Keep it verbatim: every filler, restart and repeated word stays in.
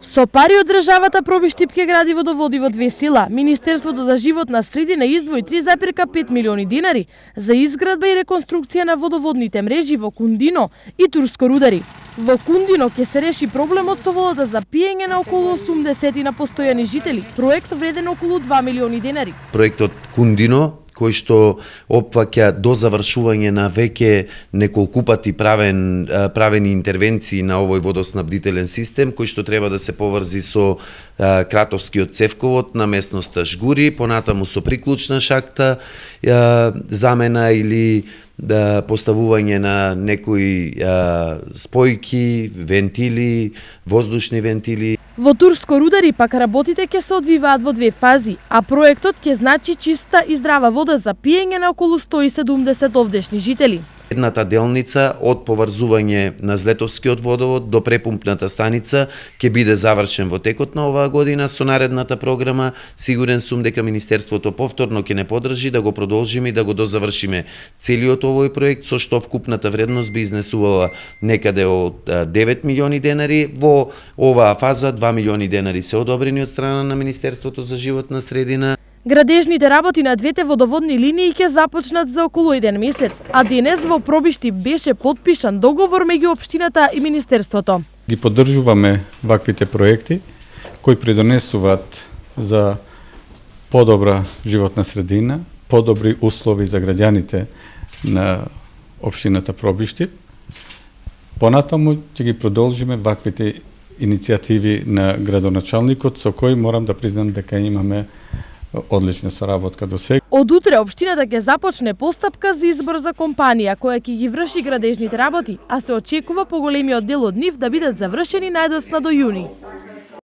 Со пари од државата Пробиштип ќе гради водоводи во две села. Министерството за животна средина издвои три зарем пет милиони динари за изградба и реконструкција на водоводните мрежи во Кундино и Турско Рудари. Во Кундино ќе се реши проблемот со водата за пиење на околу осумдесет на постојани жители. Проект вреден околу два милиони динари. Проектот Кундино, кој што опфаќа до завршување на веќе неколку пати правен, правени интервенции на овој водоснабдителен систем, кој што треба да се поврзи со а, Кратовскиот цевковод на местноста Жгури, понатаму со приклучна шахта, а, замена или да поставување на некои а, спојки, вентили, воздушни вентили. Во Турско Рудари пак работите ќе се одвиваат во две фази, а проектот ќе значи чиста и здрава вода за пиење на околу сто и седумдесет овдешни жители. Едната делница од поврзување на Злетовскиот водовод до препумпната станица ќе биде завршен во текот на оваа година со наредната програма. Сигурен сум дека Министерството повторно ќе не подржи да го продолжиме и да го дозавршиме целиот овој проект, со што вкупната вредност би изнесувала некаде од девет милиони денари. Во оваа фаза два милиони денари се одобрени од страна на Министерството за животна средина. Градежните работи на двете водоводни линии ќе започнат за околу еден месец, а денес во Пробиштип беше потпишан договор меѓу општината и Министерството. Ги поддржуваме ваквите проекти кои придонесуваат за подобра животна средина, подобри услови за граѓаните на општината Пробиштип. Понатаму ќе ги продолжиме ваквите иницијативи на градоначалникот, со кој морам да признам дека имаме одлична соработка до сега. Од утре општината ќе започне постапка за избор за компанија која ќе ги врши градежните работи, а се очекува поголемиот дел од нив да бидат завршени најдоцна до јуни.